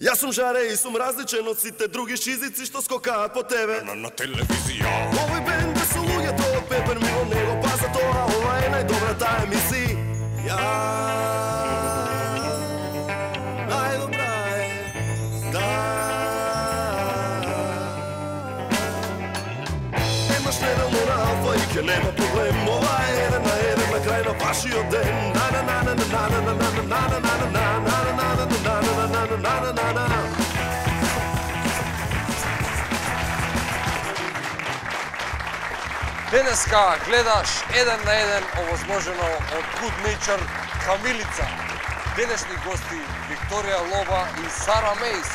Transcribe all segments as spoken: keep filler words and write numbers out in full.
Јас сум жаре и сум различен од сите други шизици што скокаат по тебе На, на телевизија. Овој бенд да се луѓето од Пепер мимо него, па за тоа ова е најдобрата емисија. Најдобра е, да. Немаш неделно на Алфа и ке нема проблем, ова е еден на еден на крај на вашиот ден. На на на на на на на на на на на на на Денеска гледаш еден на еден овозможено од Good Nature Камилица. Денешни гости Викторија Лоба и Сара Мејс.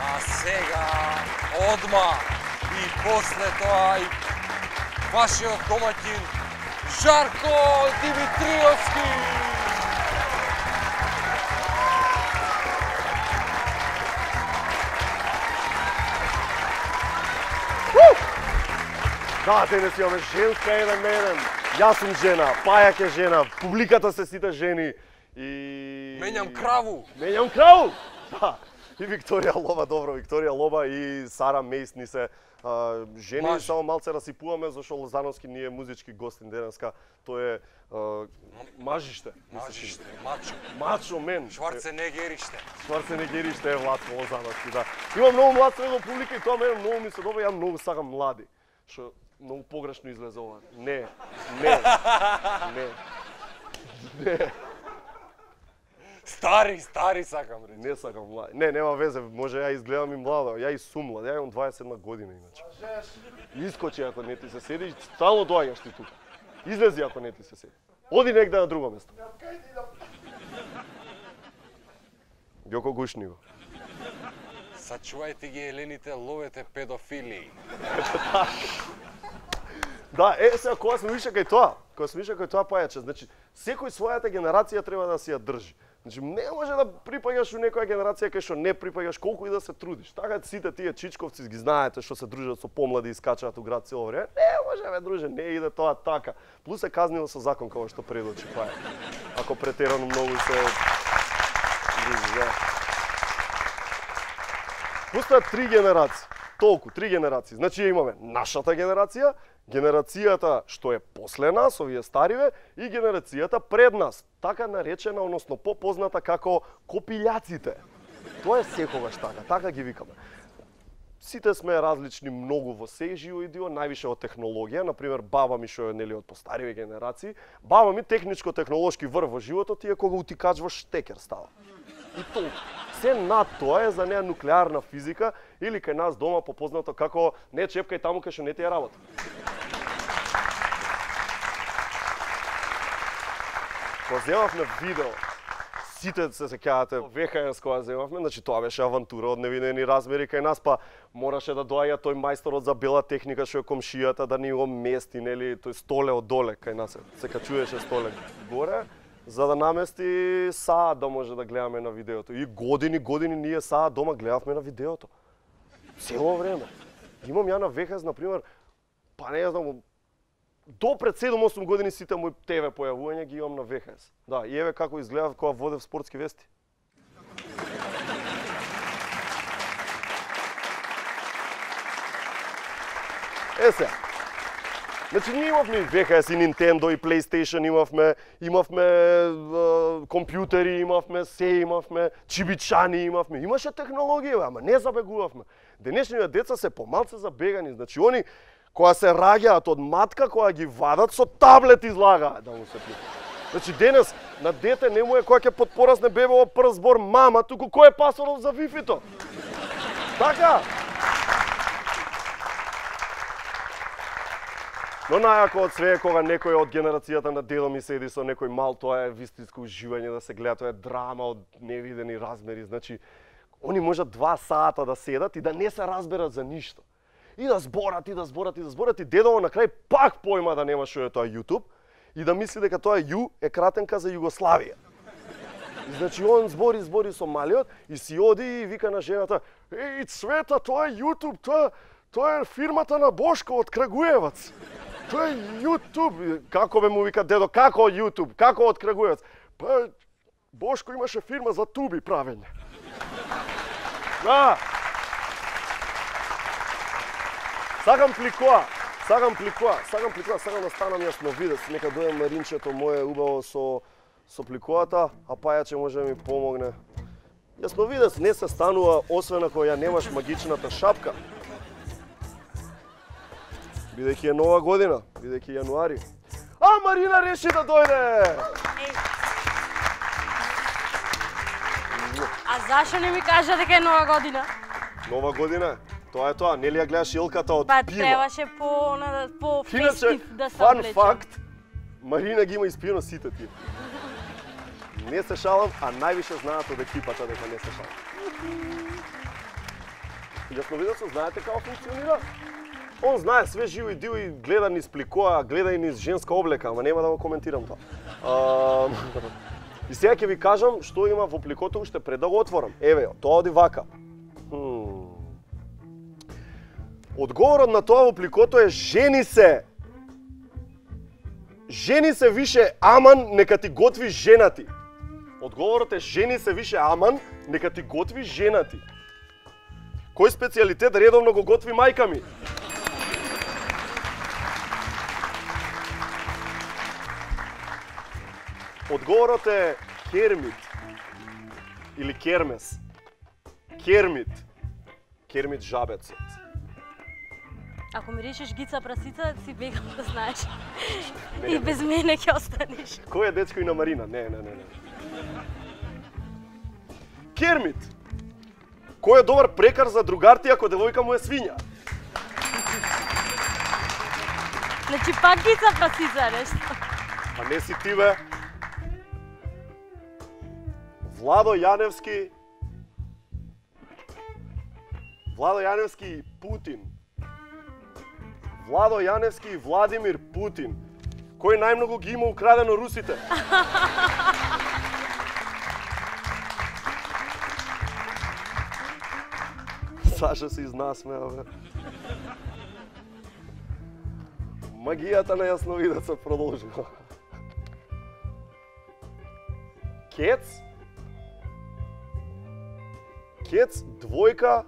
А сега одма и после тоа и вашиот домаќин Жарко Димитриевски. Да, денес имаме женска еден на еден. Јас сум жена, Пајак е жена, публиката се сите жени и... Менјам краву. Менјам краву! Да. И Викторија Лоба, добро, Викторија Лоба и Сара Мејс ни се а, жени, Маж. Само малце расипуваме, зашто Лозановски ние музички гостин денеска. Тој е а, мажиште. Мажиште, мачо. Мачо мен. Шварценегериште. Шварценегериште е Владко Лозановски, да. Има многу млад средно публика и тоа мене многу ми се добра, ја многу сакам млади. Што многу погрешно излезе ова. Не, не, не, не. Стари, стари сакам речи. Не сакам млади. Не, нема везе, може ја изгледам и млада. Ја и сум млад, ја имам дваесет и една година иначе. Искочи ако не ти се седи, стално доаѓаш ти тука. Излези ако не ти се седи. Оди негде на друго место. Ѓоко гушни го. Сачувајте ги елените, ловете педофили. Да, е, сега, кога сме више кај тоа, кога сме више кај тоа пајаче, значи, секој својата генерација треба да си ја држи. Значи, не може да припаѓаш у некоја генерација кај што не припаѓаш, колку и да се трудиш. Така сите тие чичковци ги знаете што се дружат со помлади и скачаат у град цело време. Не може, бе, друже, не иде тоа така. Плюс е казнило со закон како што предочи паја. Ако претерано многу се дружи, да. Постојат три генерации. Толку, три генерации. Значи имаме нашата генерација, генерацијата што е после нас, овие стариве, и генерацијата пред нас, така наречена, односно попозната како копилјаците. Тоа е секогаш така, така ги викаме. Сите сме различни многу во сеј живо и диво, највише од технологија, например баба ми што е нели од постариве генерации, баба ми техничко-технолошки врв во животот и е кога утикач во штекер става. И толку. Се над тоа е за неа нуклеарна физика или кај нас дома попознато како не чепкај таму кај што не ти е работа. Кога земавме видео, сите се сеќавате ви ейч ес кога земавме, значи тоа беше авантура од невидени размери кај нас, па мораше да доаѓа тој мајсторот за бела техника што е комшијата да ни го мести, нели, тој столе од доле кај нас се качуваше столе горе, за да намести саат да може да гледаме на видеото. И години, години ние саат дома гледавме на видеото. Цело време. Имам ја на ви ейч ес, например, па не знам, до пред седум-осум години сите мои те ве појавувања ги имам на ви ейч ес. Да, и еве како изгледав кога водев спортски вести. Е сега. Значи ние имавме и ви ейч ес, и Nintendo, и PlayStation имавме, имавме е, компјутери, имавме, се имавме, чибичани имавме, имаше технологија, ама не забегувавме. Денешните деца се помалце забегани, значи они кога се раѓаат од матка, кога ги вадат со таблет излагаат да му се пие. Значи денес на дете не му е кога ќе потпорасне бебево прв збор мама, туку кој е пасвордот за Wi-Fi-то? Така? Но најако од све е кога некој од генерацијата на дедо ми седи со некој мал, тоа е вистинско уживање да се гледа, тоа е драма од невидени размери, значи они можат два сата да седат и да не се разберат за ништо. И да зборат, и да зборат, и да зборат, и дедово на крај пак појма да нема што е тоа YouTube и да мисли дека тоа Ю е кратенка за Југославија. И значи он збори, збори со малиот и си оди и вика на жената: "Еј, Цвета, тоа е YouTube, тоа тоа е фирмата на Бошко од Крагуевац. Тоа е YouTube." Како бе му вика дедо, како YouTube, како од Крагуевац? Па Бошко имаше фирма за туби правење. Да. Сакам пликоа. Сакам пликоа. Сакам пликоа. Сакам да станам јасновидец. Нека дојде Маринчето мое убаво со со пликоата, а пајаче може да ми помогне. Јасновидец не се станува освен ако ја немаш магичната шапка. Бидејќи е нова година, бидејќи јануари. А Марина реши да дојде. А зашо не ми кажа дека е нова година? Нова година? Тоа е тоа, нели ја гледаш илката од Па пива? требаше по на по Иначе, фестив да се фан облече. факт, Марина ги има испиено сите тие. Не се шалам, а највише знаат од екипата дека не се шалам. Јасновидецот знаете како функционира? Он знае све живо и диво и гледа низ пликоа, гледа и низ женска облека, ама нема да го коментирам тоа. А, и сега ќе ви кажам што има во пликото уште пред да го отворам. Еве, тоа оди вака. Хм. Одговорот на тоа во пликото е жени се. Жени се више аман, нека ти готви женати. Одговорот е жени се више аман, нека ти готви женати. Кој специјалитет редовно го готви мајка ми? Одговорот е кермит или кермес. Кермит. Кермит жабецот. Ако ми решиш Гица прасица, си бегам да знаеш. И без мене ќе останеш. Кој е дечко и на Марина? Не, не, не, не. Кермит. Кој е добар прекар за другарти ако девојка му е свиња? Значи пак Гица прасица нешто. А не си ти бе. Владо Јаневски. Владо Јаневски и Путин. Владо Јаневски и Владимир Путин. Кој најмногу ги има украдено русите? Саша се изнасмеа, бе. Магијата на јасновидецот продолжува. Кец. Кец, двојка.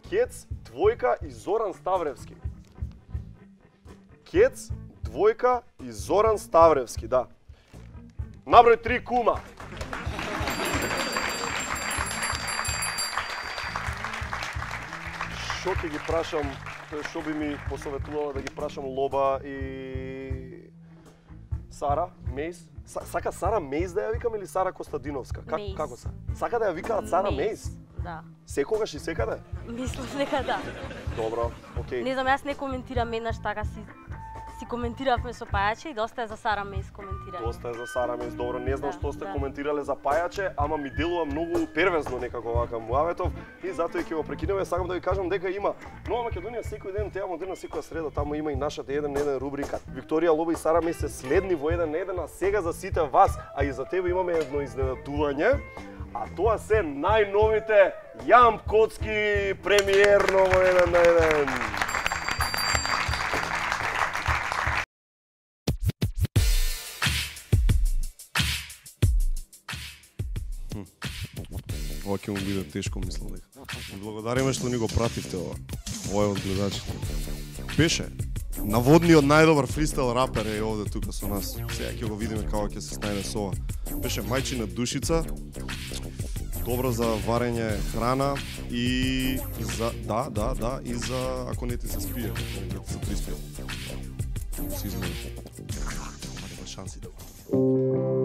Кец, двојка и Зоран Ставревски. Кец, двојка и Зоран Ставревски, да. Наброј три кума. Шо ќе ги прашам, шо би ми посоветувала да ги прашам Лоба и Сара Мејс? Сака Сара Мејс да ја викам или Сара Костадиновска? Как, Мејс. како се? Сака да ја викаат Сара Мејс? Да. Секогаш и секаде? Мислам дека да. Добро, окей. Не знам, јас не коментирам еднаш така си си коментиравме со Пајаче и доста е за Сара Мејс коментирање. Доста е за Сара Мејс, добро. Не знам Да, што сте да. коментирале за Пајаче, ама ми делува многу первезно некако вака муаветов и затоа и ќе го прекинеме. Сакам да ви кажам дека има Нова Македонија секој ден, теа модерна секоја среда, таму има и нашата еден на еден рубрика. Викторија Лоба и Сара Мејс се следни во еден на еден, а сега за сите вас, а и за тебе имаме едно изненадување. А тоа се најновите Јамп Коцки премиерно во еден на еден. Ова ќе му биде тешко, мислам дека. Благодариме што ни го пративте ова. Ова е од гледачите. Беше наводниот најдобар фристайл рапер е овде тука со нас. Сега ќе го видиме како ќе се снајде со ова. Беше мајчина душица. Добро за варење храна и за да, да, да, и за ако не ти се спие, ако не ти се приспие. Си измери. Има шанси да го.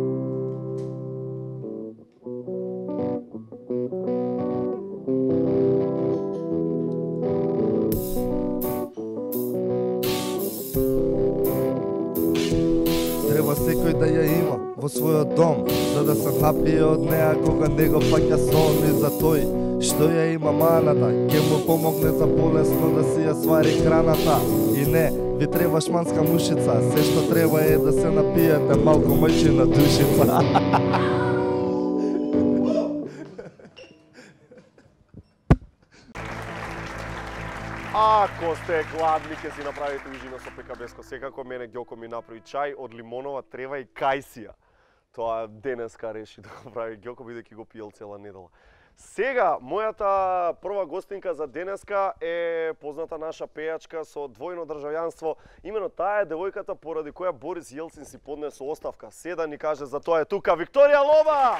Треба секој да ја има во својот дом, за да се напие од неа кога не го паќа сон. И за тој што ја има маната, ќе му помогне за болесно да си ја свари храната. И не, ви треба шманска мушица, се што треба е да се напиете малку мајчина душица. Ако сте гладни, ќе си направите ужина со пекабеско. Секако мене Ѓоко ми направи чај од лимонова трева и кајсија. Тоа денеска реши да го прави Ѓоко, бидејќи го пиел цела недела. Сега, мојата прва гостинка за денеска е позната наша пејачка со двојно државјанство. Имено таа е девојката поради која Борис Јелцин си поднесе оставка. Се да ни каже за тоа е тука Викторија Лоба!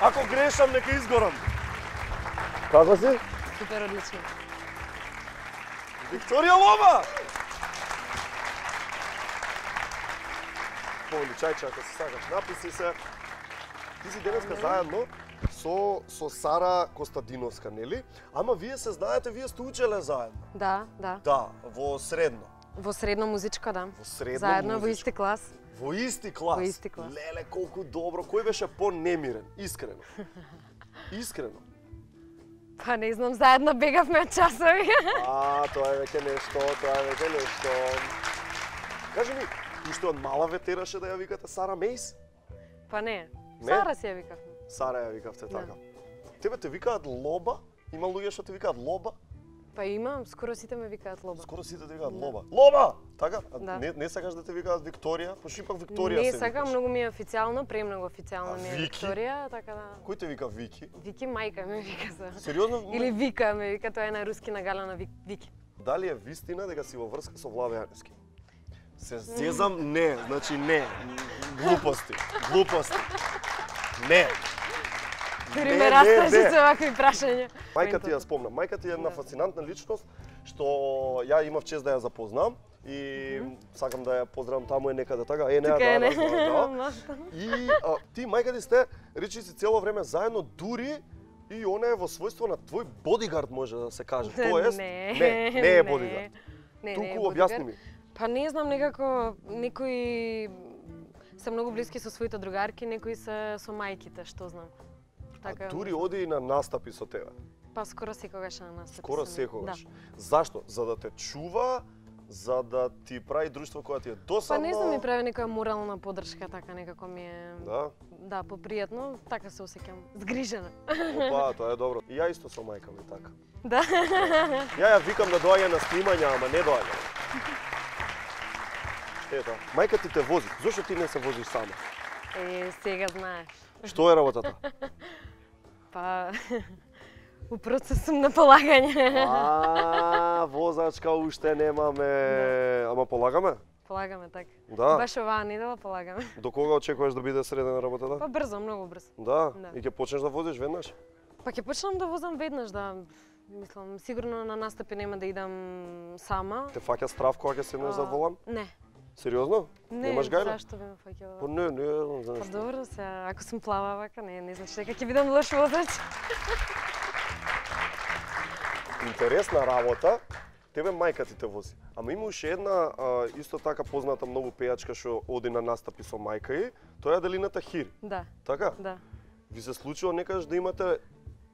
Ако грешам, нека изгорам. Како си? Супер одлично. Викторија Лоба! Поли чајче, ако се сакаш, написи се. Ти си денеска заедно со, со Сара Костадиновска, нели? Ама вие се знаете, вие сте учеле заедно. Да, да. Да, во средно. Во средно музичка, да. Во средно Заедно музичко. во исти клас. Во исти клас. Во исти клас. Леле, колку добро. Кој беше по-немирен? Искрено. Искрено. Па не знам, заедно бегавме од часови. А, тоа е веќе нешто, тоа е веќе нешто. Кажи ми, уште од мала ве тераше да ја викате Сара Мейс? Па не. Не? Сара си ја викавме. Сара ја викавте Да. така. Тебе те викаат Лоба? Има луѓе што те викаат Лоба? Па има, скоро сите ме викаат Лоба. Скоро сите те викаат Да. Лоба. Лоба! Така? А Да. Не, не сакаш да те викаат Викторија? Пошто ипак Викторија Не се сакам, викаш. многу ми е официјално, премногу официјално А ми е Вики? Викторија, така да. Кој те вика Вики? Вики мајка ме вика за. Сериозно? Или Вика ме вика, тоа е на руски нагалена Вик- Вики. Дали е вистина дека си во врска со Владе Јаневски? Се зезам, не, значи не. Глупости, глупости. Не. Дури Не, ме не, растраши не. со вакви прашања. Мајка ти ја спомнам. Мајка ти е една Да. фасцинантна личност што ја имав чест да ја запознам и сакам да ја поздравам, таму е некаде така. Е, не, Тука да, е, да, не. да. И а, ти мајка ти сте речи си цело време заедно, дури и она е во својство на твој бодигард, може да се каже. Тоест, Не, не, не е бодигард. Не, не е Туку објасни бодигард. ми. Па не знам, некако некои се многу блиски со своите другарки, некои се со мајките, што знам. А дури оди и на настапи со тебе. Па скоро секогаш на настапи. Скоро сум. секогаш. Да. Зашто? За да те чува, за да ти прави друштво кое ти е Па досадно. не знам, ми прави некоја морална подршка, така некако ми е... Да? Да, попријатно, така се осеќам згрижена. Опа, тоа е добро. И ја исто со мајка ми така. Да. Ја ја викам да доаѓа на снимања, ама не доаѓа. Ето, мајка ти те вози. Зошто ти не се возиш сама? Е, сега знаеш. Што е работата? Па... У процес сум на полагање. А, возачка уште немаме. Ама полагаме? Полагаме така. Да. Баш оваа недела полагаме. До кога очекуваш да биде средена работата? Па брзо, многу брзо. Да. Да. И ќе почнеш да возиш веднаш? Па ќе почнам да возам веднаш, да. Мислам, сигурно на настапи нема да идам сама. Те фаќа страв кога ќе седнеш за А, волан? Не. Сериозно? Не, Немаш гајле? зашто би ме фаќала? Па не, не, не знам Па што. добро се, ако сум плава вака, не, не значи дека ќе бидам лош возач. Интересна работа. Тебе мајка ти те вози. Ама има уште една а, исто така позната многу пејачка што оди на настапи со мајка и, тоа е Аделината Хири. Да, Така? да. Ви се случува некогаш да имате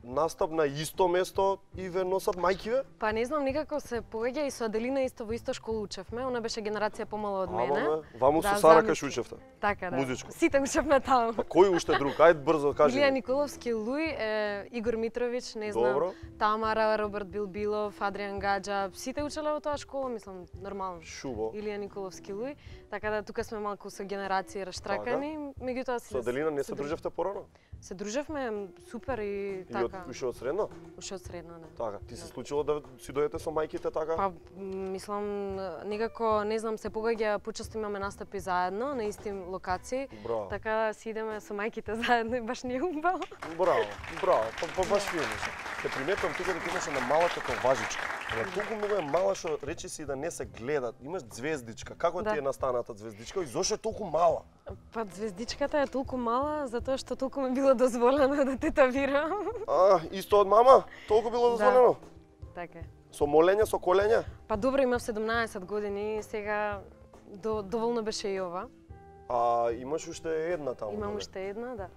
настап на исто место и ве носат мајкиве? Па не знам, никако се погаѓа и со Аделина исто во иста школа учевме. Она беше генерација помала од мене. Ама, бе, ваму Да, со Сара замисли. кај учевте. Така да. Музичко. Сите учевме таму. Па кој уште друг? Ајде брзо кажи. Илија ми. Николовски, Луј, е, Игор Митровиќ, не знам, Добро. Тамара, Роберт Билбилов, Адриан Гаджа, сите учеле во тоа школа, мислам, нормално. Шубо. Илија Николовски, Луј, така да тука сме малку со генерации раштракани, меѓутоа си Со Аделина не се дружевте порано? Се дружевме супер и И од, така. уште од средно? Уште од средно, да. Така, ти се случило да си дојдете со мајките така? Па, м, мислам, некако, не знам, се погаѓа, почесто имаме настапи заедно, на исти локации, Браво. така си идеме со мајките заедно и баш ни е убаво. Браво, браво, па, па баш фино. Те приметувам тука дека имаш една мала татоважичка. Ама толку многу е мала што речи си да не се гледат. Имаш звездичка. Како Да. ти е настаната звездичка и зошто е толку мала? Па звездичката е толку мала затоа што толку ми било дозволено да тетовирам. А, исто од мама? Толку било дозволено? Така е. Со молење, со колење? Па добро, имав седумнаесет години, сега до, доволно беше и ова. А имаш уште една таму. Имам доле. уште една, да.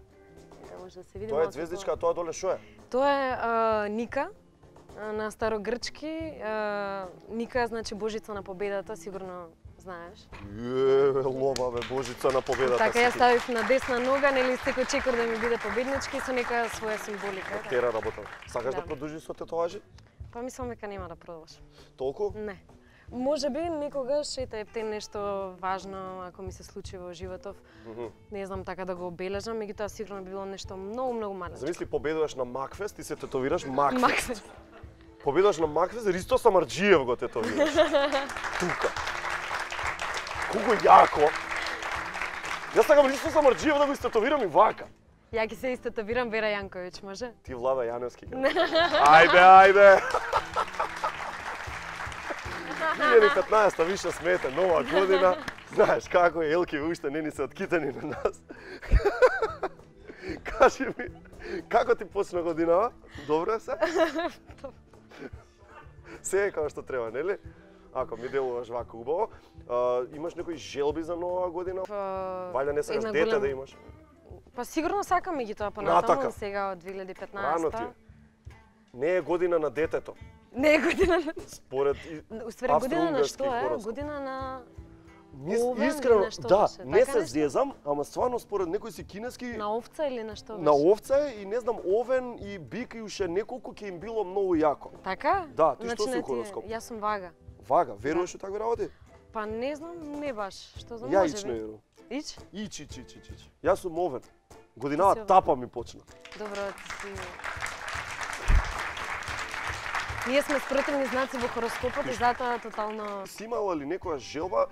Така може да се види. Тоа е малку звездичка, а тоа доле што е? по- Тоа е а, Ника, а, на старогрчки. А, Ника значи Божица на победата, сигурно знаеш. Е, лоба бе, Божица на победата. Така си ја ти. ставив на десна нога, нели секој чекор да ми биде победнички со нека своја символика. Тера работа. Сакаш да, Да. продолжиш со тетоважи? Па мислам дека нема да продолжам. Толку? Не. Може би некогаш ете епте нешто важно ако ми се случи во животов. Mm -hmm. Не знам така да го обележам, меѓутоа сигурно би било нешто многу многу малечко. Замисли победуваш на Макфест и се тетовираш Макфест. Макфест. Победуваш на Макфест, Ристо Самарџиев го тетовираш. Тука. Колку јако. Јас сакам Ристо Самарџиев да го истетовирам и вака. Ја ќе се истетовирам Вера Јанковиќ, може? Ти Влада Јаневски. Ајде, ајде. две илјади и петнаесета више смете, нова година. Знаеш како е, елки уште не ни се откитани на нас. Кажи ми, како ти почна годинава? Добро е се? Се е како што треба, нели? Ако ми делуваш вака убаво. А, имаш некои желби за нова година? Вајда не сакаш дете голем... да имаш? Па сигурно сакам и ги тоа понатаму, Натака. сега од две илјади и петнаесета. Рано ти е. Не е година на детето. Не е година на... Според Уствари година на што е? хороскоп. Година на... Мис, овен искрено, или нешто да, беше, не така се нешто? зезам, ама стварно според некои си кинески На овца или на што беше? на овца е и не знам овен и бик и уште неколку ќе им било многу јако. Така? Да, ти што Значи, си не у хороскоп? Јас сум вага. Вага, веруваш у такви работи? Па не знам, не баш. Што знам, Ја може ич не би. верувам. Ич? Ич, ич, ич, ич, ич. Јас сум овен. Годинава Ти си тапа ми почна. Добро, ти си... Ние сме спротивни знаци во хороскопот и затоа тотално... Си имала ли некоја желба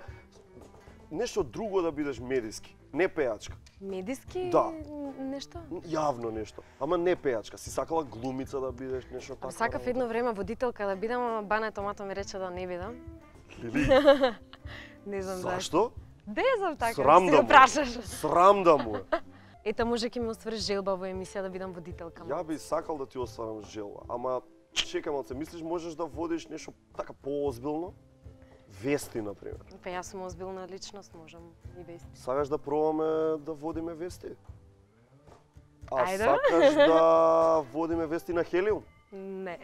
нешто друго да бидеш медиски, не пејачка? Медиски Да. нешто? Јавно нешто, ама не пејачка. Си сакала глумица да бидеш, нешто така? Сакав едно време водителка да бидам, ама Бана Томато ми рече да не бидам. Лили, Не знам зашто? Не знам така, Срам си да го му. прашаш. Срам да му е. Ета може ќе ми оствари желба во емисија да бидам водителка. Ја би сакал да ти остварам желба, ама чекам, се мислиш можеш да водиш нешто така поозбилно? Вести, например. Па јас сум озбилна личност, можам и без. Сакаш да пробаме да водиме вести? А Ајде. сакаш да водиме вести на Хелиум? Не.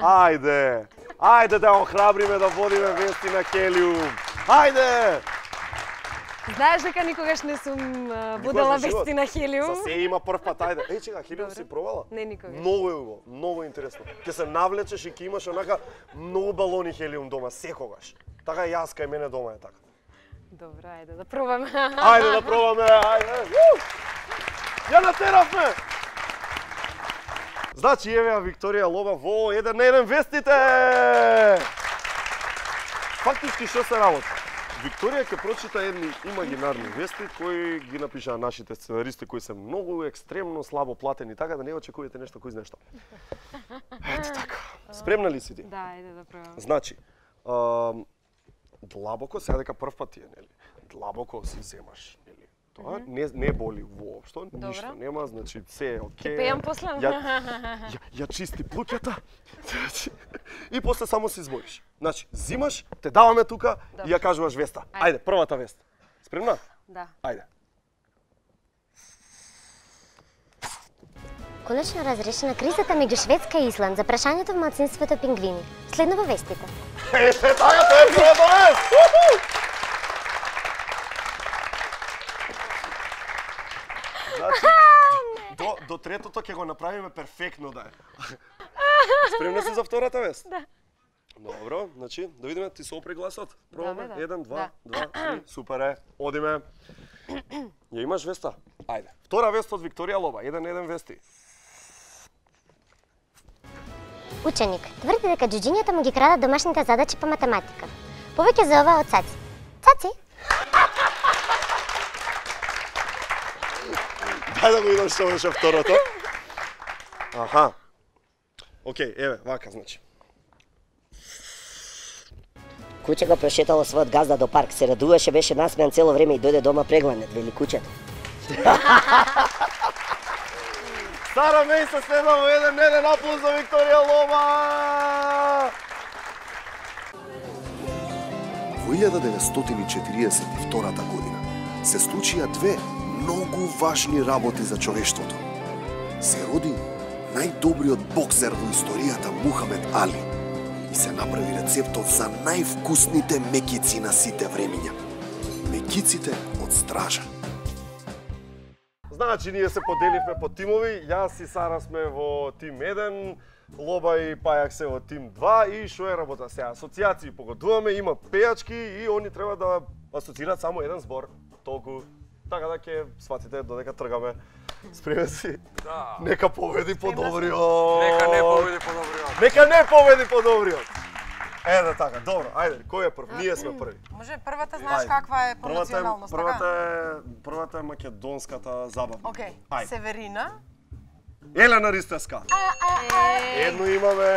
Ајде! Ајде да охрабриме да водиме вести на Хелиум! Ајде! Знаеш дека никогаш не сум а, водела за живот? вести на Хелиум? За се има прв пат, ајде. Еј, чека, Хелиум Добре. си пробала? Не, никогаш. Многу е убаво, многу интересно. Ќе се навлечеш и ќе имаш онака многу балони Хелиум дома, секогаш. Така и јас кај мене дома е така. Добро, ајде да пробаме. Ајде да пробаме, ајде. Уу! Ја натеравме! Значи, еве ја Викторија Лоба во еден на еден вестите! Фактички што се работи? Викторија ќе прочита едни имагинарни вести кои ги напишаа нашите сценаристи кои се многу екстремно слабо платени, така да не очекувате нешто кој знае што. Ете така. Спремна ли си ти? Да, ајде да пробаме. Значи, а, длабоко, сега дека прв пат ти е, нели? Длабоко си земаш, нели? Тоа не не боли воопшто, ништо нема, значи се е окей. Ќе пеам после? Ја, ја, ја чисти плуќата. Значи, и после само се измориш. Значи, зимаш, те даваме тука и ја кажуваш веста. Ајде, првата вест. Спремна? Да. Ајде. Конечно разрешена кризата меѓу Шведска и Исланд за прашањето во малцинството пингвини. Следно во вестите. Ете така, тоа е првата вест! Значи, до, до третото ќе го направиме перфектно да е. Спремна си за втората вест? Да. Добро, значи, да видиме, ти се опре гласот. Пробаме, Да, бе, да. еден, два, Да. два, три, супер е, одиме. Ја имаш веста? Ајде. Втора вест од Викторија Лоба, еден еден вести. Ученик тврди дека џуџињата му ги крадат домашните задачи по математика. Повеќе за ова од Цаци. Цаци? Дај да го видам што беше второто. Аха. Океј, еве, вака значи. Куче го прошетало својот газда до парк, се радуваше, беше насмеан цело време и дојде дома прегланет, вели кучето. Стара меј се следва во еден еден аплауз за Викторија Лоба! Во илјада деветстотини четириесет и втората година се случија две многу важни работи за човештвото. Се роди најдобриот боксер во историјата Мухамед Али и се направи рецептот за највкусните мекици на сите времиња. Мекиците од стража. Значи, ние се поделивме по тимови, јас и Сара сме во тим еден, Лоба и Пајак се во тим два и што е работа сега? Асоцијации погодуваме, има пејачки и они треба да асоцираат само еден збор, толку. Така да ќе сватите додека тргаме. Спреме си. Да. Нека победи подобриот. Нека не победи подобриот. Нека не победи подобриот. Еде така, добро, ајде, кој е прв? Ние сме први. Може првата знаеш каква е по националност, така? Првата е првата е македонската забавна. Океј. Ајде. Северина. Елена Ристевска. Едно имаме.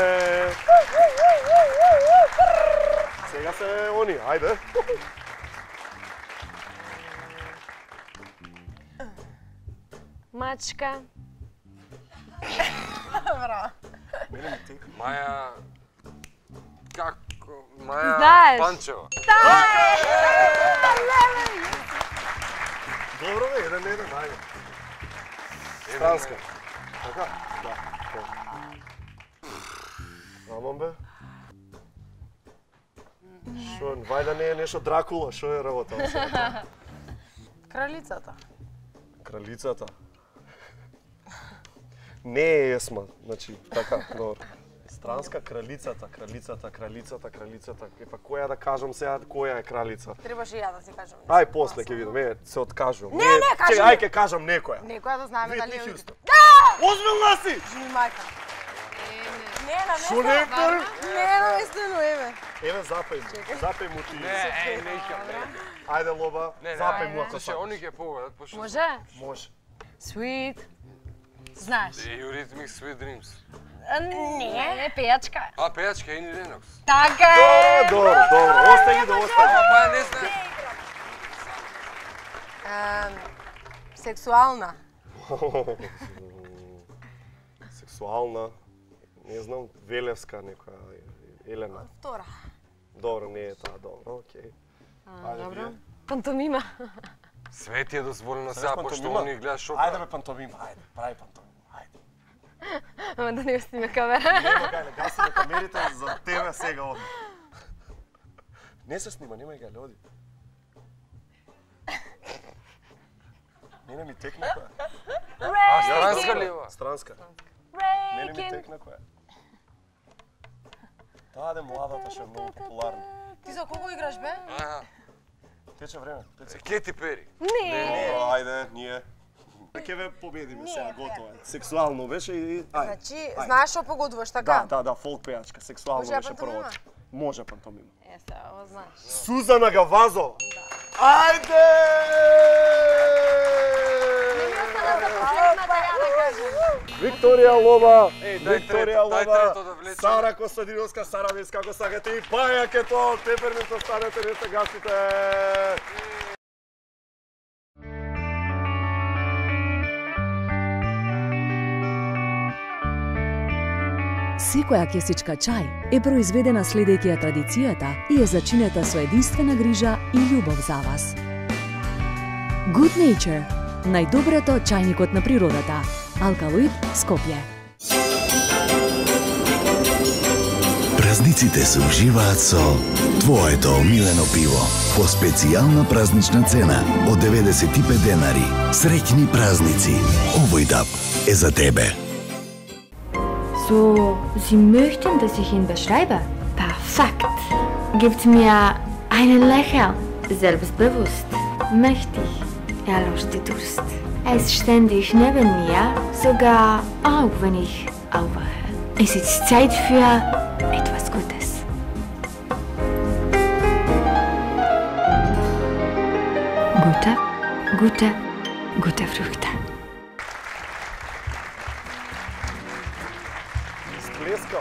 Сега се они, ајде. Мачка. Браво. Маја... Како? Маја Знаеш. Панчева. Добро бе, еден еден, ајде. Странска. Така? Да. Амон бе. Шо, вајда не е нешто Дракула, шо е работа? Кралицата. Кралицата. Не е Есма, значи, така, добро. Странска кралицата, кралицата, кралицата, кралицата. Епа која да кажам сега, која е кралица? Требаше и ја да си кажам. Ај после ќе видам, е, се откажувам. Не, не, кажи Чекај, ми. ај ќе кажам некоја. Некоја да знаеме дали е... Хјустон. Да! Озбилна си! Жми мајка. Не, на место. Шо не е втори? Не, на место, но еве. Еве запеј му, запеј му ти. Не, е, не икам, не икам. Ајде Лоба, Не, не, запеј му ако слушај, сакаш. они ќе победат, пошто... Може? Може. Sweet. Знаеш? Eurythmics Sweet Dreams. Не, пејачка. А, пејачка Ени Ленокс. Така е. Добро, добро, остај ги да остај. Па ја не знам. Ем, Сексуална. Сексуална, не знам, Велевска некоја, Елена. Втора. Добро, не е таа, добро, окей. Ајде, Добро. вие. Пантомима. Све ти е дозволено Сакаш сега, пошто пантомима? они гледаш шо Ајде бе пантомима, ајде, прави пантомима, ајде. Ама да не сниме камера. Нема гајле, гасиме камерите за тебе сега оди. Не се снима, нема гајле, оди. Мене ми текна која. А, странска ли ова? Странска. Мене ми текна која. Таа де младата што е многу популарна. Ти за кого играш, бе? Аха. Тече време, тече. Кети Пери. Не. Добро, ајде, ние. Ќе ве победиме сега, готово е. Сексуално беше и ајде. Значи, ајде. знаеш што погодуваш, така? Да, да, да, фолк пејачка, сексуално Може ја беше пантомима? првото. Може пантомима. Е, сега, ова знаеш. Сузана Гавазова. Ајде! Викторија Лоба, Еј, дај Викторија трето, дај Лоба, трето да влечеме. Сара Костадиновска, Сара Вес, како сакате и Пајак е тоа, теперница станете, не се гасите. Секоја кесичка чај е произведена следејќи ја традицијата и е зачинета со единствена грижа и љубов за вас. Good Nature, најдоброто чајникот на природата. Алкалоид, Скопје. Празниците се уживаат со твоето омилено пиво по специјална празнична цена од деветдесет и пет денари. Среќни празници. Овој даб е за тебе. So, Sie möchten, dass ich ihn beschreibe? Perfekt. Gibt mir einen Lächeln. Selbstbewusst, mächtig. Er löscht die Durst. Er ist ständig neben mir, sogar auch wenn ich aufwache. Es ist Zeit für etwas Gutes. Gute, gute, gute Früchte. Сплеска.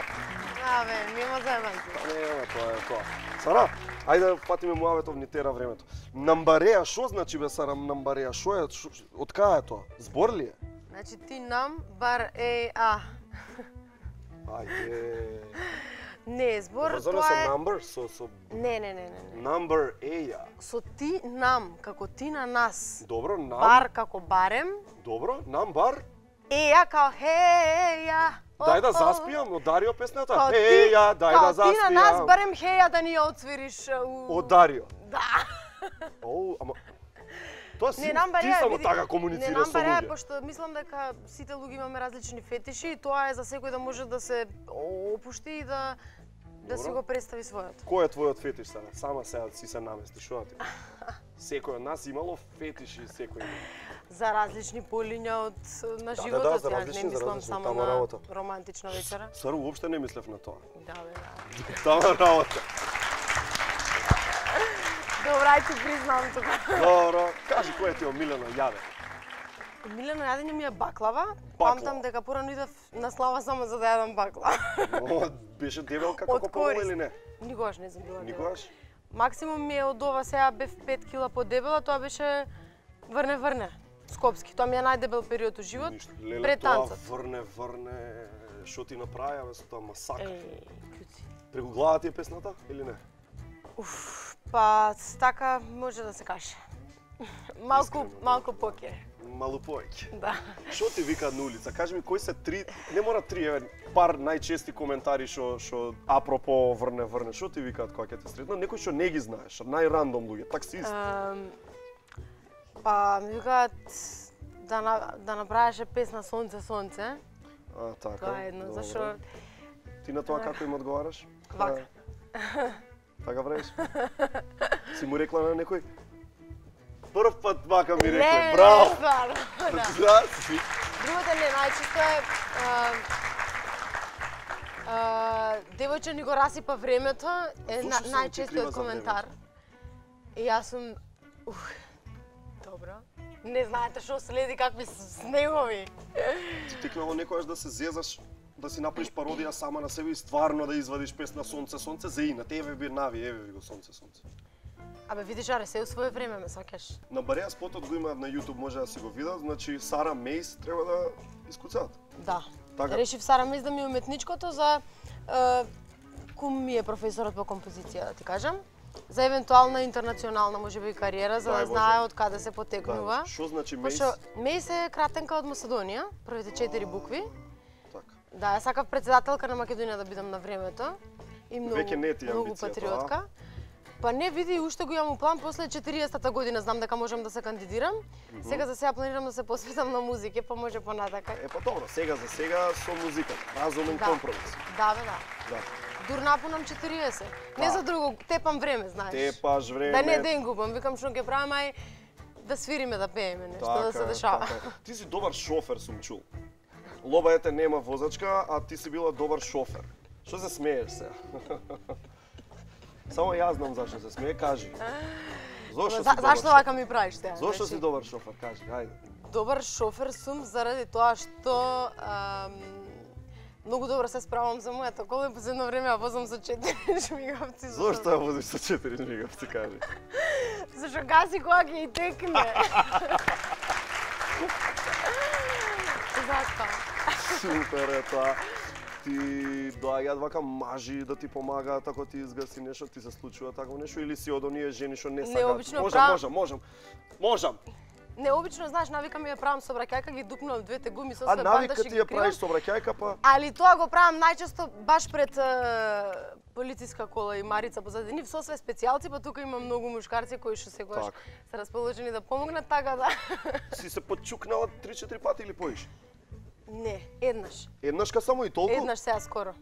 Абе, нема заебанци. Нема, тоа е тоа. Сара, ајде да патиме муаветов ни тера времето. Намбареа, шо значи бе Сара намбареа? Шо е, шо, од кај е тоа? Збор ли е? Значи ти нам бар е а. Ајде. Не, збор Врзано тоа со е... number, со со Не, не, не, не, не. number еја. Со ти нам, како ти на нас. Добро, нам. Бар како барем. Добро, нам бар. Еја као хеја. Дај да заспијам, од Дарио песната. Као ти- Еја, дај да Као ти на нас заспијам. барем хеја да ни ја отсвириш. у- Од Дарио. Да. Оу, ама Тоа си Не, нам ти бареа, само види, така не, комуницираш нам со бареа, луѓе. пошто мислам дека сите луѓе имаме различни фетиши и тоа е за секој да може да се опушти и да да си го представи својот. Кој е твојот фетиш сега? Сама сега си се наместиш, што ти? Секој од нас имало фетиши, секој има. За различни полиња од на Да, да, животот, да, за ја различни, не за мислам различни, само тама на работа. романтична вечера. Сару, уопште не мислев на тоа. Да, бе, да. Тама работа. Добра, ај ти признам тука. Добро, кажи кој е ти омилено јаде? Милено јадење ми е баклава. Баклава. Памтам дека порано идев на слава само за да јадам баклава. О, беше дебелка како Од помала корист. или не? Никогаш не сум била дебела. Никогаш? Максимум ми е од ова, сега бев пет кила подебела, тоа беше врне врне. Скопски, тоа ми е најдебел период од живот. Леле, пред тоа танцот. врне, врне, што ти направи, бе, со тоа масакр. Еј, клюци. Преку глава ти е песната или не? Уф, па така може да се каже. Малку, Искрено, малку поке. Малу повеќе. Да. Што ти викаат на улица? Кажи ми кои се три, не мора три, еве, пар најчести коментари што што апропо врне врне, што ти викаат кога ќе те сретнат? Некои што не ги знаеш, најрандом луѓе, таксист. Um, па ми викаат да на, да направеше песна Сонце сонце. А, така. Тоа е едно, добро. зашо Ти на тоа како им одговараш? Вака. А, така правиш? Си му рекла на некој? Прв пат вака ми рекла, Не, браво! не, стварно, да. Да, си. Другото не, најчесто е а, а, девојче ни го расипа времето, е Зошто на, сум ти најчестиот крива за коментар. И јас сум ух, добро. Не знаете што следи, какви снегови. Ти текнало некојаш да се зезаш, да си направиш пародија сама на себе и стварно да извадиш песна Сонце сонце за инат, еве би нави, еве ви го Сонце сонце. Абе видиш, аре, се у своје време ме сакаш. На Бареа спотот го има на YouTube, може да си го видат, значи Сара Мейс треба да искуцаат. Да. Така. Решив Сара Мейс да ми е уметничкото за е, кум ми е професорот по композиција, да ти кажам. За евентуална интернационална можеби кариера, за да Дај, знае Боже. од каде се потекнува. Да, што значи Мейс? Пошто Мейс е кратенка од Македонија, првите четири букви. Така. Да, ја сакав председателка на Македонија да бидам на времето. И многу, Веќе не ти е многу амбицијата, патриотка. Па не, види, уште го имам у план, после четириесетата година знам дека можам да се кандидирам. Мгм. Сега за сега планирам да се посветам на музика, па може понатака. Е, па добро, сега за сега со музиката, разумен Да. компромис. Да, бе, да. Да. Дур напунам четириесет. Не Да. за друго, тепам време, знаеш. Тепаш време. Да не ден губам, викам што ќе правам, ај да свириме, да пееме, нешто да се е, дешава. така е. Ти си добар шофер, сум чул. Лоба ете нема возачка, а ти си била добар шофер. Што се смееш сега? Само јас знам зашто се смее, кажи. Зошто За, си добар зашто шофер? вака ми правиш сега? Зошто Значи, си добар шофер, кажи, ајде. Добар шофер сум заради тоа што ам, многу добро се справам за мојата кола и за едно време ја возам со четири жмигавци. Зошто ја возиш со четири жмигавци, кажи? Зашто гази кога ќе и текне. Зашто? Супер е тоа. Ти доаѓаат вака мажи да ти помагаат ако ти изгаси нешто, ти се случува такво нешто или си од оние жени што не сакаат? Необично Можам, прав- можам, можам. Можам. Необично, знаеш, навика ми ја правам собраќајка, ги дупнувам двете гуми со А све навика бандажи ти ги ја кривам. правиш собраќајка, па Али тоа го правам најчесто баш пред е, полициска кола и Марица позади нив со све специјалци, па тука има многу мушкарци кои што секогаш Така. се расположени да помогнат, така да. си се подчукнала три-четири пати или поиш? Не, еднаш. Еднашка само и толку? Еднаш сега скоро.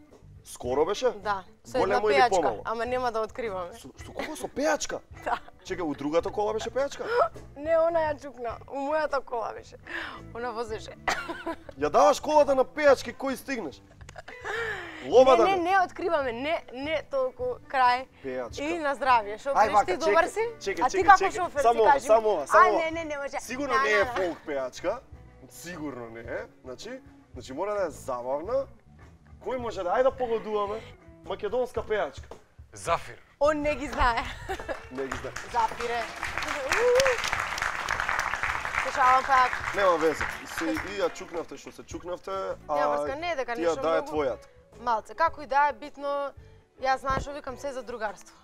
Скоро беше? Да, со една Големо или пејачка, помало? ама нема да откриваме. Со, со кого со пејачка? Да. Чека, у другата кола беше пејачка? Не, она ја чукна, у мојата кола беше. Она возеше. Ја даваш колата на пејачки, кој стигнеш? Лоба да Не, не, не откриваме, не, не толку крај. Пејачка. И на здравје, што Ај, преш вака, ти чекај, добар си? чекај, А ти чекај, како чекај. шофер Само си ова, кажи? само ова, само А, ова. не, не, не може. Сигурно Да, не да, е да. фолк пејачка. Сигурно не е. Значи, значи мора да е забавна. Кој може да ајде да погодуваме? Македонска пејачка. Зафир. Он не ги знае. Не ги знае. Запире. Слушавам пак. Нема везе. Се и ја чукнавте што се чукнавте, а Нема врска, не е дека ти ја нешто дае многу. твојат. Малце, како и да е битно, јас знаеш што викам се за другарство.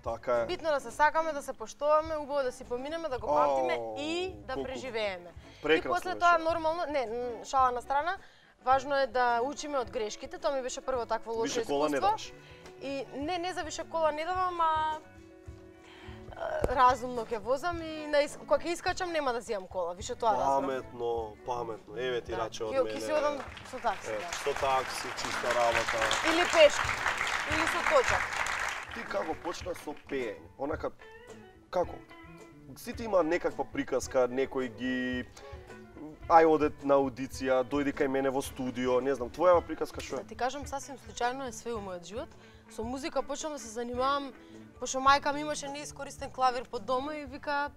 Така е. Битно да се сакаме, да се поштуваме, убаво да си поминеме, да го памтиме О, и да колку преживееме. И прекрасно после беше. тоа нормално, не, м, шала на страна, важно е да учиме од грешките, тоа ми беше прво такво лошо Више кола не искуство. даваш. И не, не за више кола не давам, а разумно ќе возам и на ис... кога ќе искачам нема да земам кола, више тоа разбрав. Паметно, паметно. Еве ти раче од Ќе мене. ќе си одам со такси, Е, да. Со такси, чиста работа. Или пешки, или со точак. Ти како почна со пеење? Онака, како? Сите има некаква приказка, некој ги... Ај оде на аудиција, дојди кај мене во студио, не знам, твојава приказка што е? Да ти кажам, сасвим случајно е све во мојот живот. Со музика почнав да се занимавам, пошто мајка ми имаше неискористен клавир под дома и вика,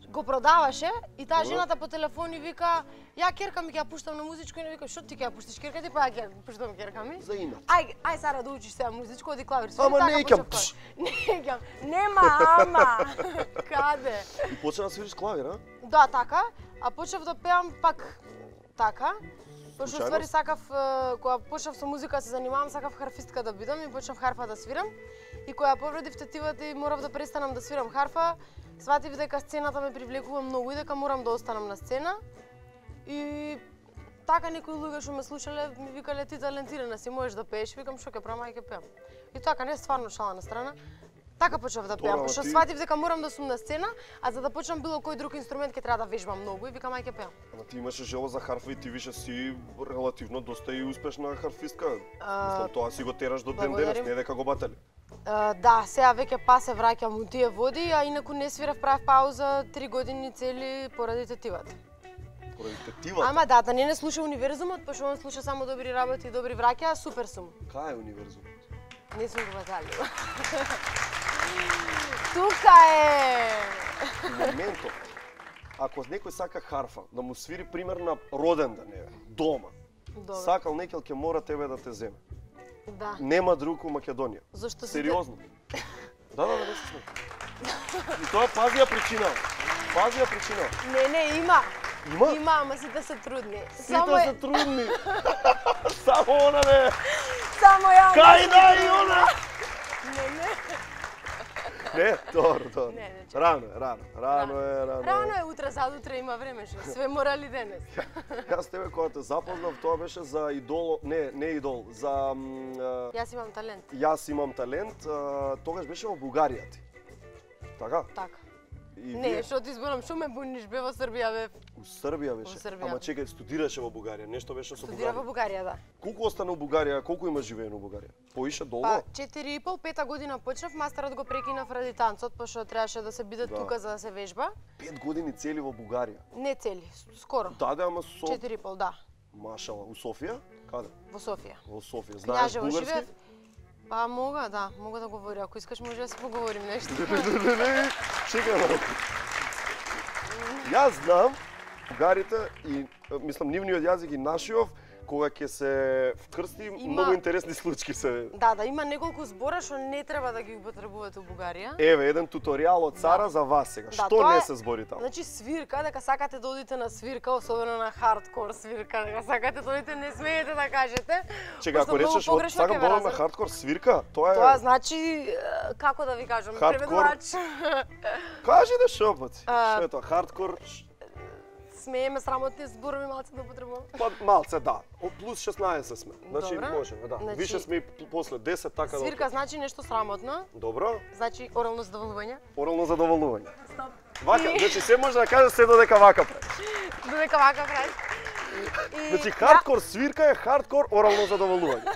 го продаваше и таа жената по телефон и вика, ја керка ми ќе ја пуштам на музичко и не викам, што ти ќе ја пуштиш керка ти, па ја ќе ја пуштам керка ми. За инат. Ај, ај Сара да учиш сега музичко, оди клавир свири. Ама така не ќам. почнав клавир. Не ќам. Нема, ама. Каде? И почна да свириш клавир, а? Да, така. А почнав да пеам пак така. Пошто Случајност? ствари сакав, е, кога почнав со музика да се занимавам, сакав харфистка да бидам и почнав харфа да свирам. И кога повредив тетивата и морав да престанам да свирам харфа, сватив дека сцената ме привлекува многу и дека морам да останам на сцена. И така некои луѓе што ме слушале ми викале ти талентирана си, можеш да пееш, викам што ќе правам, ај ќе пеам. И така не стварно шала на страна. Така почнав да пеам, Добро, пошто ти- сватив дека морам да сум на сцена, а за да почнам било кој друг инструмент ќе треба да вежбам многу и викам ај ќе пеам. Ама ти имаше желба за харфа и ти више си релативно доста и успешна харфистка. А, Мислам, тоа си го тераш до ден благодарим. денес, не дека го батали. Uh, да, сега веќе па се враќам у тие води, а инаку не свирав, правев пауза три години цели поради тетивата. Поради тетивата? Ама да, да не не слуша универзумот, пошто он слуша само добри работи и добри враќа, супер сум. Кај е универзум? Не сум го баталила. Тука е! Моментот. Ако некој сака харфа, да му свири пример на роден ден, еве, дома. Добро. Сакал некел ќе мора тебе да те земе. Да. Нема друг у Македонија. Зошто си Сериозно. Да, да, да, не се смеј. И тоа пазија причина. Пазија причина. Не, не, има. Има? Има, ама сите се трудни. Сите се трудни. Само она не. Само ја. Кај да и она? Не, не. Не, добро, добро. Не, не, Рано е, рано. Рано е, рано е. Рано е, утре, задутре има време, што све морали денес. Јас тебе кога те запознав, тоа беше за идол, не, не идол, за м, а, Јас имам талент. Јас имам талент, а, тогаш беше во Бугарија ти. Така? Така. И Не, вие- што ти зборам, што ме буниш, бе во Србија, бе. У Србија беше. Во Србија. Ама чекај, студираше во Бугарија, нешто беше со Студира во Бугарија. Бугарија, да. Колку остана у Бугарија, колку има живеено у Бугарија? Поише долго? Па, четири и пол, пета година почнав, мастерот го прекинав ради танцот, пошто требаше да се биде Да. тука за да се вежба. Пет години цели во Бугарија. Не цели, с- скоро. Да, да, ама со... Четири и пол, да. Машала, у Софија? Каде? Во Софија. Во Софија. Знаеш Књажево бугарски? живеев. Па мога, да, мога да говоря. Ако искаш може да си поговорим нешто. Не, не, чекај малку. Јас знам бугарите и мислам нивниот јазик и нашиот кога ќе се вкрсти Има- многу интересни случаи се. Да, да, има неколку збора што не треба да ги употребувате у Бугарија. Еве еден туторијал од Сара за вас сега. Да, Што тоа не е- се збори таму? Значи свирка, дека сакате да одите на свирка, особено на хардкор свирка, дека сакате да одите, не смеете да кажете. Чека, пошто ако многу речеш од погрешно сакам ќе да ве одам на разберат. хардкор свирка, тоа е Тоа значи, е, како да ви кажам, Хардкор. преведувач. Кажи да што пати. А, Што е тоа? Хардкор? Смееме срамотни зборови малце да употребувам. Па малце да. О, плюс шеснаесет сме. Значи Добро. можеме, да. Значи, Више сме и п- после десет така да. Свирка значи нешто срамотно, Добро. значи орално задоволување. Орално задоволување. Стоп. Вака, И- значи се може да каже се додека вака прави. Додека вака прави. И Значи хардкор свирка е хардкор орално задоволување.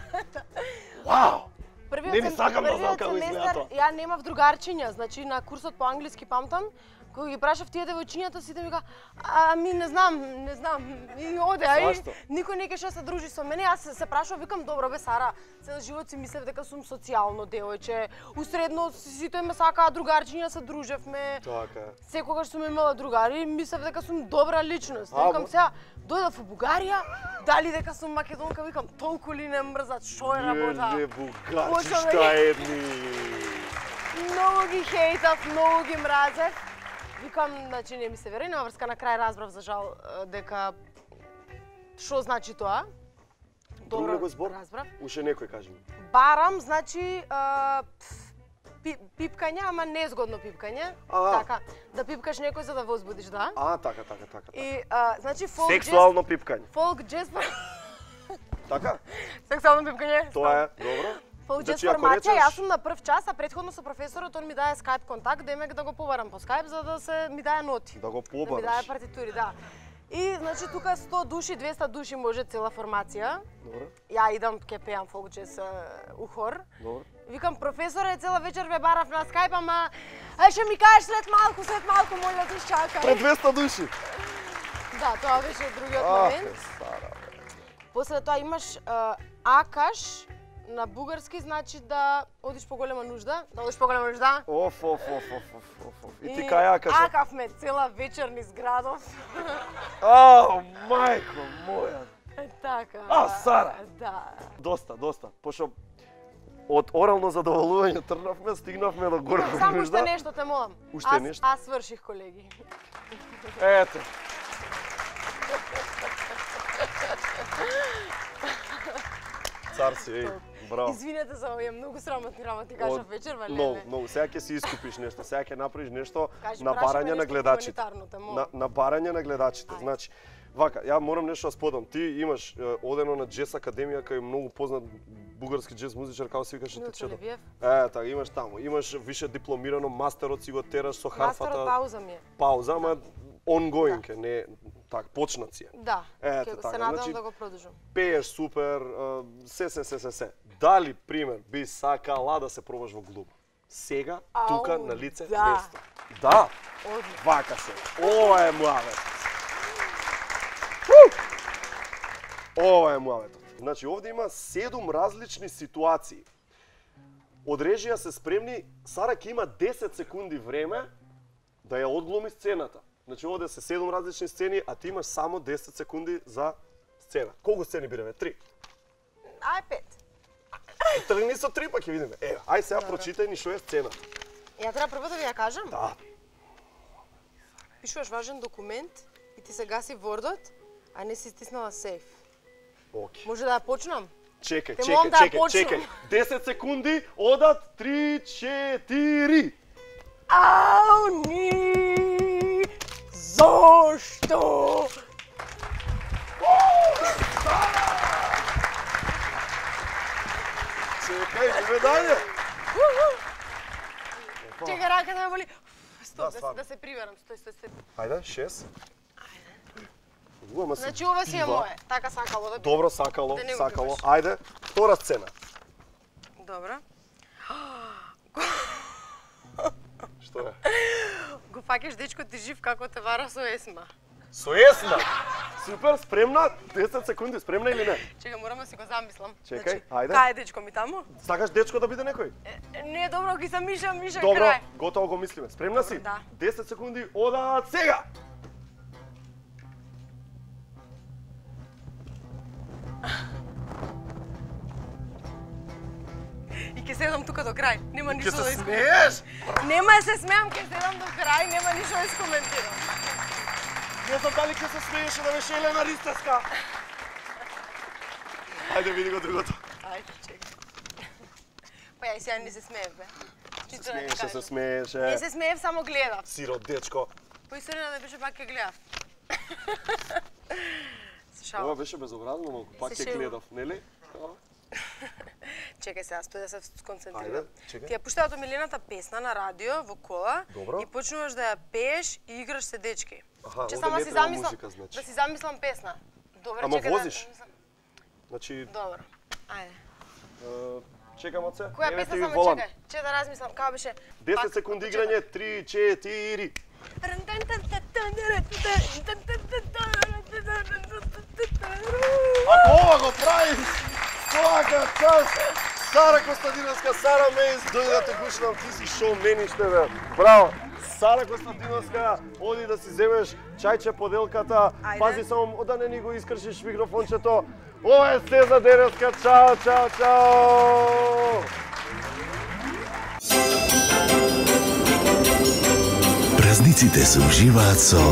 Вау! Првиот Не ни сем- сакам да знам првиот како изгледа семестар тоа. Ја немав другарчиња, значи на курсот по англиски памтам, кога ги прашав тие девојчињата, сите ми ка, ами не знам, не знам, и оде, ај, Зашто? никој не кеше да се дружи со мене, јас се, се прашав, викам, добро бе Сара, цел живот си мислев дека сум социјално девојче, усредно сите ме сакаа другарчиња, се дружевме, Така е. секогаш сум имала другари, мислев дека сум добра личност. А, Викам бо- сега, дојдов во Бугарија, дали дека сум македонка, викам, толку ли не мрзат, што е работа? Леле, бугарчи, Почнав да шта ги- едни. Многу ги хейтав, многу ги мразев. Викам, значи не ми се верува, нема врска, на крај разбрав за жал е, дека што значи тоа. Друг некој збор? разбрав. Уште некој кажи ми. Барам, значи, а, пи, пипкање, ама незгодно пипкање. А. Така, да пипкаш некој за да возбудиш, да. А, така, така, така. И, а, значи, фолк Сексуално пипкање. Фолк джез... Така? Сексуално пипкање. Тоа е, добро. Получи Значи, ако информација, речеш- јас сум на прв час, а претходно со професорот он ми даде скайп контакт, демек да го побарам по скайп за да се ми даде ноти. Да го Да ми побараш. даде партитури, да. И значи тука сто души, двеста души може цела формација. Добро. Ја идам ке пеам фолк джез у хор. Добро. Викам професоре, цела вечер ве барав на скайп, ама ај ќе ми кажеш след малку, след малку, молја те чакај. Пред двеста души. Да, тоа беше другиот Ах, момент. Сара. После тоа имаш а, акаш на бугарски, значи да одиш по голема нужда, да одиш по голема нужда. Оф, оф, оф, оф, оф, оф, оф. И ти кај акаш? Акавме цела вечер низ градов. Ау, мајко моја. Е, така. А, Сара. Да. Доста, доста. Пошто од орално задоволување тргнавме, стигнавме до голема Само нужда. уште нешто те молам. Уште аз, нешто? Аз сврших, колеги. Ето. Цар си, еј, браво. Извинете за овие многу срамотни работи кажав вечер, валеле. Многу, многу. Сега ќе си искупиш нешто, сега ќе направиш нешто Кажи, на прашај ме барање на нешто гледачите. хуманитарно, те молам. На, на барање на гледачите. Значи, вака, ја морам нешто да сподам. Ти имаш е, одено на джез академија кај многу познат бугарски джез музичар, како се викаше Милчо течето. Левиев. Е, така, имаш таму. Имаш више дипломирано, мастерот си го тераш со харфата. Мастерот пауза ми е. Пауза, ама ongoing е, не так, почнат си е. Да, Ето ќе така, се надам значи, да го продолжам. Пееш супер, а, се, се, се, се, се. Дали, пример, би сакала да се пробаш во глуба? Сега, Ау, тука, на лице, да. место. Да! Одлично. Вака се. Ова е муавет. Ова е муаветот. Значи, овде има седум различни ситуации. Од режија се спремни, Сара ќе има десет секунди време да ја одглуми сцената. Значи, овде се седум различни сцени, а ти имаш само десет секунди за сцена. Колку сцени бираме? Три. Ај пет. Тргни со три, па ќе видиме. Ева, ај сега прочитај ни што е сцената. Ја треба прво да ви ја кажам? Да. Пишуваш важен документ и ти се гаси вордот, а не си стиснала сейф. Окей. Може да ја почнам? Чекај, Те чекај, молам да ја чекај, почнам. чекај. десет секунди, одат, три, четири. Ау, ни, зошто? Чекај, живе далje. Чекај, рака да ме боли. Стоп, Да, да, се- стварно. да се приверам. Стој, стој, стој. Ајде, шест. Ама се Значи ова си е бива. мое. Така сакало да би. Добро, сакало, Да не го сакало. пиваш. Ајде, втора сцена. Добро. Што е? Го фаќаш дечко ти жив како те вара со есма. Со есна. Супер, спремна? десет секунди, спремна или не? Чекај, морам да си го замислам. Чекај, ајде. Кај е дечко ми таму? Сакаш дечко да биде некој? Е, Не, добро, ги се миша, миша Добро, крај. готово го мислиме. Спремна си? Да. десет секунди, одат сега! И ќе седам тука до крај. Нема Ќе ништо се да смееш? Нема да се смеам, ќе седам до крај, нема ништо да искоментирам. Не знам дали ќе се смееше да беше Елена Ристевска. Ајде, види го другото. Ајде, чекај. Па ја и сега не се смеев, бе. Чисто да ти Смееше, кажам. се смееше. Не се смеев, само гледав. Сирот дечко. По историја да беше пак ќе гледав. Се шалам. Ова беше безобразно малку, пак Се ќе шегувам. гледав, нели? Чекај сега, стој да се сконцентрирам. Ајде, чекај. Ти ја пуштаат омилената песна на радио во кола. Добро. И почнуваш да ја пееш и играш се дечки. Аха, Че овде само не си треба замислам, музика, значи. да си замислам песна. Добре, Ама чекај возиш? да замислам. Значи, Добро. Ајде. е, чекам од се. Која Еве песна ти само волам. чекај? Че да размислам, како беше? десет Пак, секунди од играње, три, четири. Ако ова го правиш, свака част, Сара Костадиновска, Сара Мейс, дојде да те гушнам, ти си шоумениште, бе. Браво! Сара Костадиновска, оди да си земеш чајче поделката, Ајде. пази само да не ни го искршиш микрофончето. Ова е се за денеска, чао, чао, чао! Празниците се уживаат со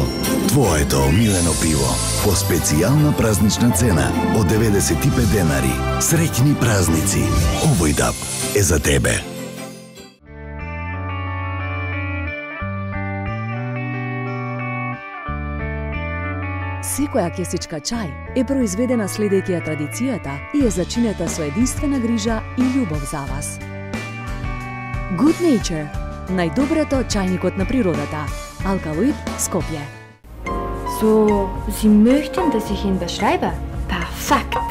твоето омилено пиво по специјална празнична цена од деветдесет и пет денари. Среќни празници. Овој даб е за тебе. Секоја кесичка чај е произведена следејќи ја традицијата и е зачинета со единствена грижа и љубов за вас. Good Nature, најдоброто чајникот на природата. Алкалоид, Скопје. So, Sie möchten, dass ich ihn beschreibe? Perfekt.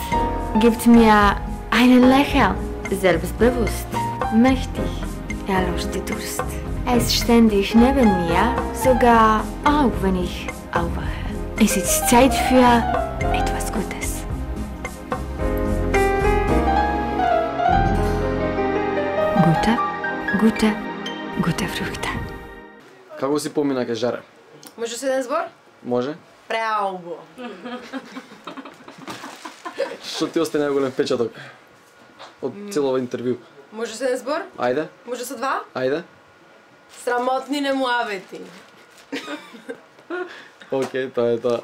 Gibt mir einen Lächeln. Selbstbewusst, mächtig, er löscht die Durst. Er ist ständig neben mir, sogar auch wenn ich aufwache. Es ist Zeit für etwas Gutes. Gute, gute, gute Früchte. Како си помина ке жаре? Може се еден збор? Може? Преалбо. Што ти остане најголем впечаток од целово интервју? Може се еден збор? Ајде. Може со два? Ајде. Срамотни немуавети. Океј, тоа е тоа.